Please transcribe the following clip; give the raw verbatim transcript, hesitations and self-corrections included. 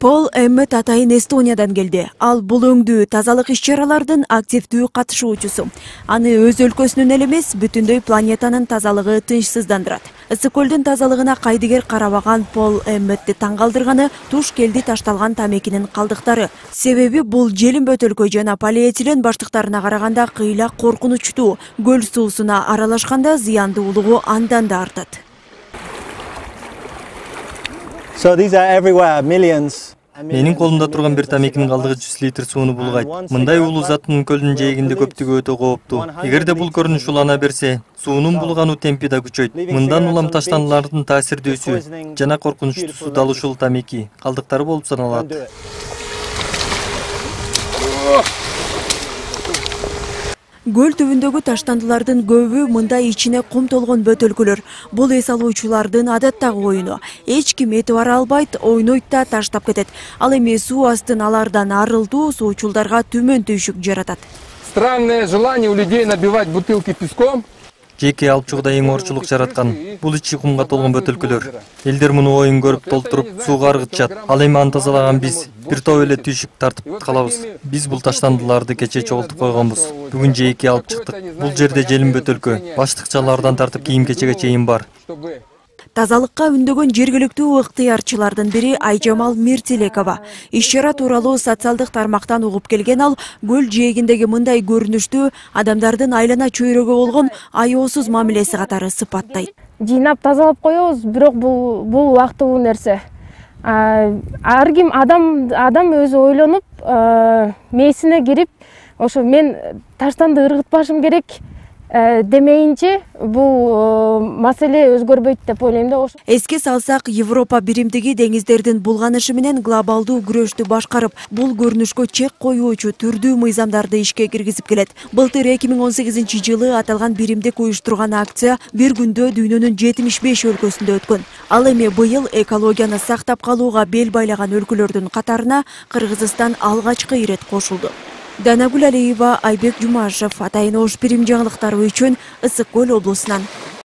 Пол Эммет атайын Эстониядан келди. Ал бул өңдүү тазалык иш-чаралардын активдүү катышуучусу. Аны өз өлкөсүнүн эле эмес, бүтүндөй планетанын тазалыгы тынчсыздандырат. Ысык көлдүн тазалыгына кайдыгер карабаган Пол Эмметти таң калтырганы туш келди ташталган тамекинин калдыктары. Себеби бул желим бөтөлкө жана полиэтилен баштыктарына караганда кыйла коркунучтуу. Көл суусуна аралашканда зыяндуулугу андан да артат. So these are everywhere, millions. Менин колумда турган бир тамекинин калдыгы жүз литр сууну булгайт. Мындай уулуу заттын көлдүн жээгинде көптүгү өтө кооптуу. Эгерде бул көрүнүш улана берсе, суунун булгануу темпи да күчөйт. Мындан улам таштандылардын таасирдүүсү жана коркунучтуусу дал ушул тамеки калдыктары болуп саналат. Көл түбүндөгү таштандылардын көбү мындай ичине кум толгон бөтөлкөлөр. Бул эс алуучулардын адаттагы оюну. Эч ким этибар албайт, ойнойт да таштап кетет. Ал эми суу астын алардан арылтуу суучулдарга түмөн түйшүк жаратат. Странное желание у людей набивать бутылки песком. Жеке алып чыгууда эң оорчулук жараткан бул ичи кумга толгон бөтөлкөлөр. Элдер муну ойун көрүп толтуруп сууга аргытышат. Ал эми аны тазалаган биз бир топ эле түйшүк тартып калабыз. Биз бул таштандыларды кечээ чогултуп койгонбуз. Бүгүн жеке алып чыктык. Бул жерде желим бөтөлкө, баштыкчалардан тартып кийим-кечеге чейин бар. Тазалыкка үндөгөн жергиликтүү ыктыярчылардын бири Айжамал Миртилекова. Иш-чара тууралуу социалдык тармактан угуп келген ал көл жээгиндеги мындай көрүнүштү адамдардын айлана чөйрөгө болгон аяосуз мамилеси катары сыпаттайт. Жыйнап тазалап коебуз, бирок бул бул убактылуу нерсе. Ар ким адам адам өзү ойлонуп, мээсине кирип, ошо мен таштанды ыргытпашым керек демейинче бул маселе өзгөрбөйт деп ойлойм да. Эске салсак, Европа биримдиги деңиздердин булганышы менен глобалдуу күрөштү башкарып, бул көрүнүшкө чек коюучу түрдүү мыйзамдарды ишке киргизип келет. Былтыр эки миң он сегизинчи жылы аталган биримдик уюштурган акция бир күндө дүйнөнүн жетимиш беш өлкөсүндө өткөн. Ал эми быйыл экологияны сактап калууга бел байлаган өлкөлөрдүн катарына Кыргызстан алгачкы ирет кошулду. Данагүл Алиева, Айбек Жумашев, Атайын Ош Бирим жаңылыктары үчүн Ысык Көл облусунан.